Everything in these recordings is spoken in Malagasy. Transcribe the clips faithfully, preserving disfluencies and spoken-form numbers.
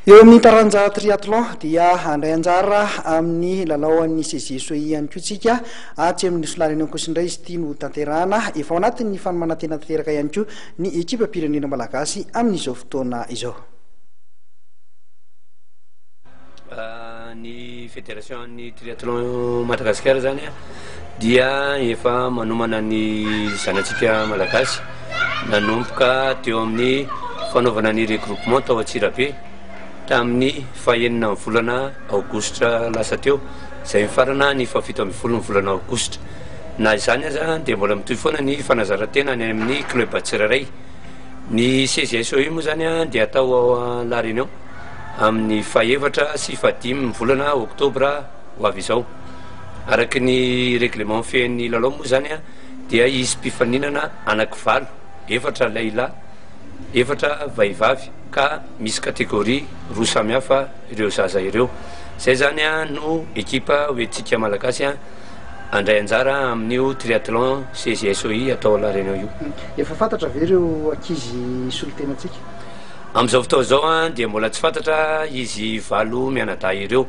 Eo amin'ny taranja triathlon dia handray anjara amin'ny lalaon'ny C J S O I ihany koa tsika atsy amin'ny nosy La Réunion kosa indray izy ity no tanterahana. Efa ao anatin'ny fanomanantena tanteraka ihany koa ny ekipa-pirenena malagasy amin'izao fotoana izao. Ny fédération ny triathlon Madagasikara zany a dia efa manomana ny zanatsika malagasy nanomboka teo amin'ny fanaovana ny regroupement tao Antsirabe tamin'ny fahenina ny volana aogositra lasa teo, zay mifarana ny fahafito amby folo ny volana aogositra. Na izany aza de mbola mitohy foana ny fanazarantena any amin'ny club tsirairay. Ny C J S O I moa zany a de atao ao La Réunion amin'ny faefatra sy fahadimy ny volana oktobra ho avy izao. Araky ny règlement fean'ny lalao moa zany a dia izy mpifaninana anaky valo, efatra lehilahy, efatra vehivavy, ka misy catégorie roa samihafa ireo zaza ireo. Zay zany a no ekipa hoentsika malagasy a andray anjara amin'io triathlon C J S O I atao La Réunion io. Efa fantatra ve ireo ankizy solotenatsika? Am'izao fotoa zao a dia mbola tsy fantatra izy valo mianadahy ireo,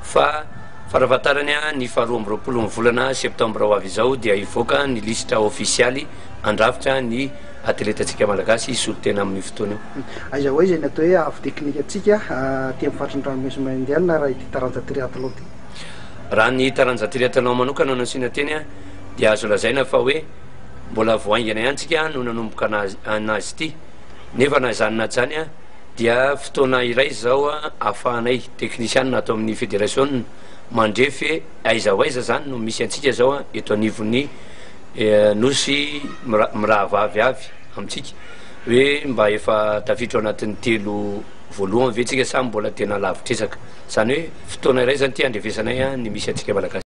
fa farafahatarany a ny faharoa amby roapolo ny volana septembre ho avy izao dia ivoaka ny lisitra ofisialy andrafitra ny atletatsika malagasy solotena amin'ny fotoana io. Aiza ho aiza ny atao hoe haavo teknika atsika ty amin'ny faritry ny ranomasina Indiana raha ity taranja triathlon ty? Raha ny taranja triathlon manokana no asiana teny a dia azo lazaina fa hoe mbola voaingana ihany tsika no nanomboka anazy anazy ity, nefa na zany na zany a dia fotoana iray zao a ahafahanay teknisianina atao amin'ny fédération mandrefy aiza ho aiza zany no misy antsika zao a eto anivon'ny nosy mirahavavy avy amitsika, hoe mba efa tafiditra ao anatin'ny telo voalohany ve tsika sa mbola tena lavitrezaka. Zany hoe fotoana iray zany ty andrevesanay a ny misy atsika malagasy.